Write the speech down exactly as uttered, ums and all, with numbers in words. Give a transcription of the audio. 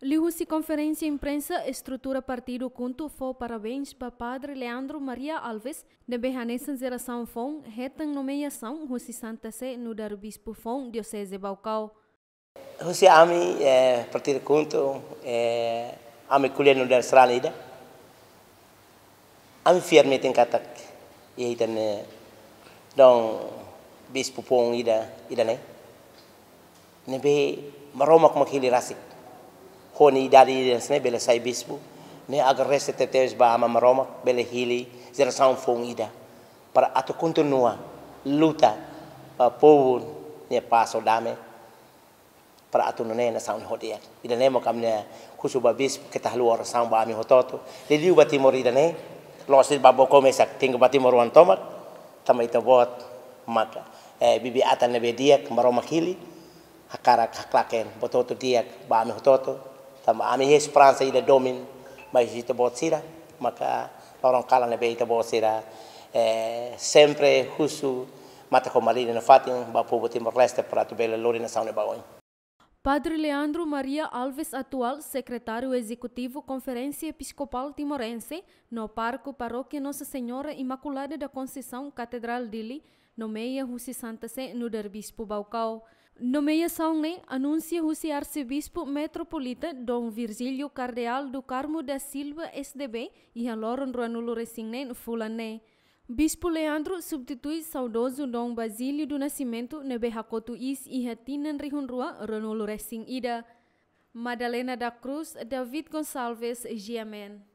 Liuhusi konferénsia imprensa, estrutura partidu KHUNTO fó parabéns ba Padre Leandro Maria Alves, ne'ebé hanesan jerasaun foun hetan nomeiasaun husi Santa Sé nu'udar bispu foun Dioseze Baucau. Husi ami, eh, partidu KHUNTO, eh, ami ko'alia nu'udar sarani ida. Ami fiar metin katak iha ita-nia, eh, dom bispu foun ida, ida-ne'e. Ne'ebé Maromak mak hili rasik. Ho nia idade ida-ne'e bele sai bispu. Ne'e agradese tebes ba Aman Maromak bele hili jerasaun foun ida. Para atu kontinua luta ba povu nia pás ho dame. Para atu nune'e nasaun ne'e ho di'ak. Ida-ne'e maka ami-nia husu ba bispu keta haluha orasaun ba ami hotu-hotu. Liuliu ba Timor ida-ne'e, la'ós ba Baucau mesak, tenke ba timoroan tomak, tanba ita-boot maka, eh, bibi-atan ne'ebé di'ak, Maromak hili, hakarak haklaken buat hotu di'ak ba ami hotu-hotu, tanba ami iha esperansa ida domin, mai ita-boot sira, maka loron kalan ne'ebé ita-boot sira, eh, sempre husu, matan ho malin nafatin, ba povu Timor-Leste para atu bele lori nasaun ne'e ba oin. Padre Leandro Maria Alves, atuál Sekretáriu Ezekutivu Konferénsia Episkopál Timorense, no pároku Parókia Nossa Senhora Imaculada da Conceição, Katedrál Dili, nomeia husi Santa Sé nu'udar bispu Baucau. Nomeiasaun ne'e anunsia husi Arsebispu Metropolita Dom Virgílio Cardeal do Carmo da Silva, S D B, iha loron ruanulu-resin-neen fulan ne'e. Bispu Leandro substitui saudozu Dom Basílio do Nascimento ne'ebé hakotu iis iha tinan rihun rua ruanulu-resin-ida. Madalena da Cruz, David Gonçalves, G M N.